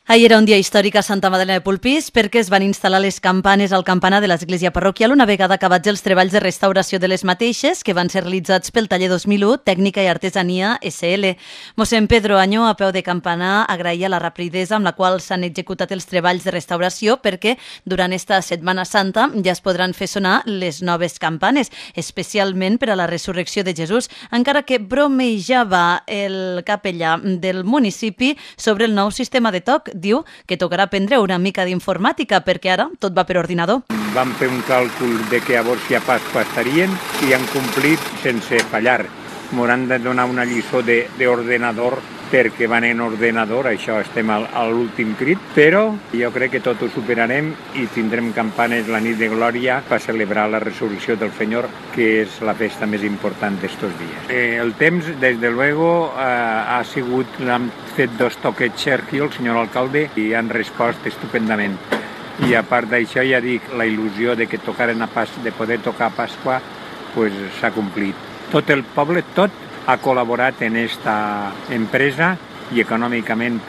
Ahir era un dia històric a Santa Magdalena de Polpís perquè es van instal·lar les campanes al campanar de l'església parroquial una vegada acabats els treballs de restauració de les mateixes que van ser realitzats pel taller 2001 Tècnica i Artesania SL. Mossèn Pedro Añó, a peu de campanar, agraïa la rapidesa amb la qual s'han executat els treballs de restauració perquè durant esta Setmana Santa ja es podran fer sonar les noves campanes, especialment per a la resurrecció de Jesús, encara que bromejava el capellà del municipi sobre el nou sistema de toc. Diu que tocarà aprendre una mica d'informàtica perquè ara tot va per ordinador. Vam fer un càlcul de que llavors si a Pasqua estarien i han complit sense fallar. M'hauran de donar una lliçó d'ordenador perquè van en ordenador, això estem a l'últim crit, però jo crec que tot ho superarem i tindrem campanes la nit de glòria per celebrar la resurrecció del Senyor, que és la festa més important d'estos dies. El temps, des de luego, ha sigut, l'han fet dos toquets Sergio, el senyor alcalde, i han respost estupendament. I a part d'això, ja dic, la il·lusió de que de poder tocar a Pasqua s'ha complit. Tot el poble, tot, ha col·laborat en esta empresa i econòmicament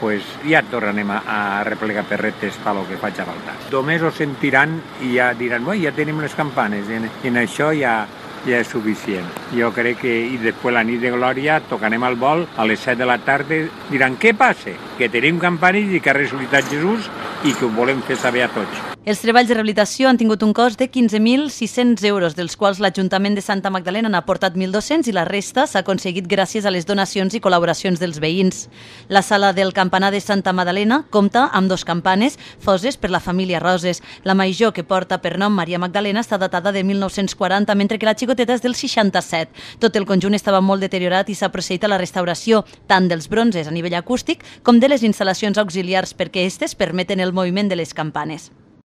ja tornarem a replegar perretes per lo que faci falta. Només ho sentiran i ja diran, ja tenim les campanes, i en això ja és suficient. Jo crec que, i després la nit de glòria, tocarem al vol a les 7 de la tarda, diran, què passa? Que tenim campanes i que ha ressuscitat Jesús i que ho volem fer saber a tots. Els treballs de rehabilitació han tingut un cost de 15.600 euros, dels quals l'Ajuntament de Santa Magdalena n'ha aportat 1.200 i la resta s'ha aconseguit gràcies a les donacions i col·laboracions dels veïns. La sala del campanar de Santa Magdalena compta amb 2 campanes foses per la família Roses. La major, que porta per nom Maria Magdalena, està datada de 1940, mentre que la xicoteta és del 67. Tot el conjunt estava molt deteriorat i s'ha procedit a la restauració tant dels bronzes a nivell acústic com de les instal·lacions auxiliars perquè aquestes permeten el moviment de les campanes.